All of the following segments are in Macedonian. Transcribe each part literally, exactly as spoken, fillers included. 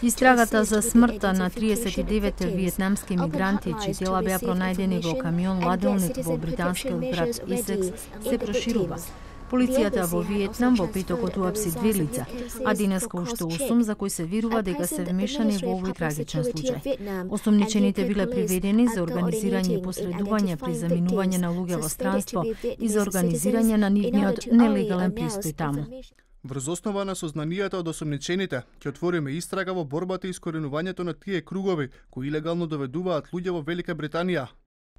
Истрагата за смртта на триесет и девет виетнамски мигранти, чии тела беа пронајдени во камион ладилник во британскиот град Исекс, се проширува. Полицијата во Виетнам во петокот уапси две лица, а денеска уште осум за кои се верува дека се вмешани во овој трагичен случај. Осумничените биле приведени за организирање и посредување при заминување на луѓе во странство и за организирање на нивниот нелегален престој таму. Врз основа на сознанијата од осумничените, ќе отвориме истрага во борбата и искоренувањето на тие кругови кои илегално доведуваат луѓе во Велика Британија.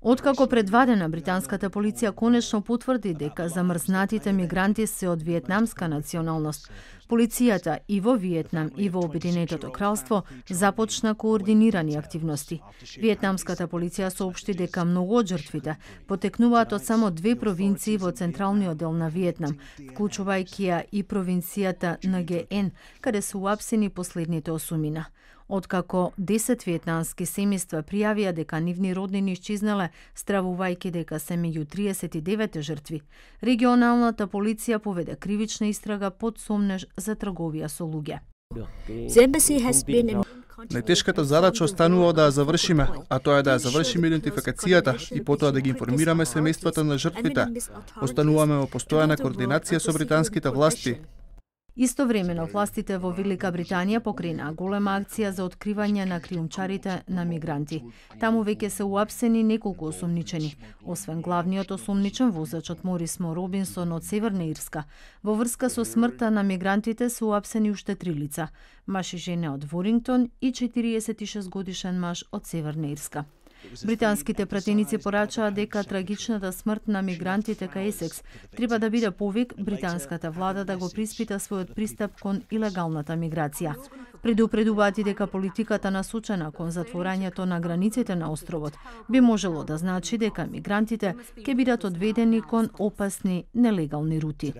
Откако предвадена, британската полиција конечно потврди дека замрзнатите мигранти се од виетнамска националност. Полицијата и во Виетнам и во Обединетото кралство започна координирани активности. Виетнамската полиција соопшти дека многу од жртвите потекнуваат од само две провинции во централниот дел на Виетнам, вклучувајќи ја и провинцијата Нге Ен, каде се уапсени последните осумина. Откако десет виетнамски семејства пријавија дека нивни роднини исчезнале, стравувајќи дека се меѓу триесет и девет жртви, регионалната полиција поведе кривична истрага под сомнеж за трговија со луѓе. Најтешката задача останува да ја завршиме, а тоа е да ја завршиме идентификацијата и потоа да ги информираме семејствата на жртвите. Остануваме во постојана координација со британските власти. Истовремено, властите во Велика Британија покрена голема акција за откривање на криумчарите на мигранти. Таму веќе се уапсени неколку осумничени, освен главниот осумничен возачот Морис-Мо Робинсон од Северна Ирска. Во врска со смртта на мигрантите се уапсени уште три лица, маж и жена од Ворингтон и четириесет и шест годишен маж од Северна Ирска. Британските пратеници порачаа дека трагичната смрт на мигрантите кај Есекс треба да биде повик британската влада да го приспита својот пристап кон илегалната миграција. Предупредуваат и дека политиката насочена кон затворањето на границите на островот би можело да значи дека мигрантите ќе бидат одведени кон опасни нелегални рути.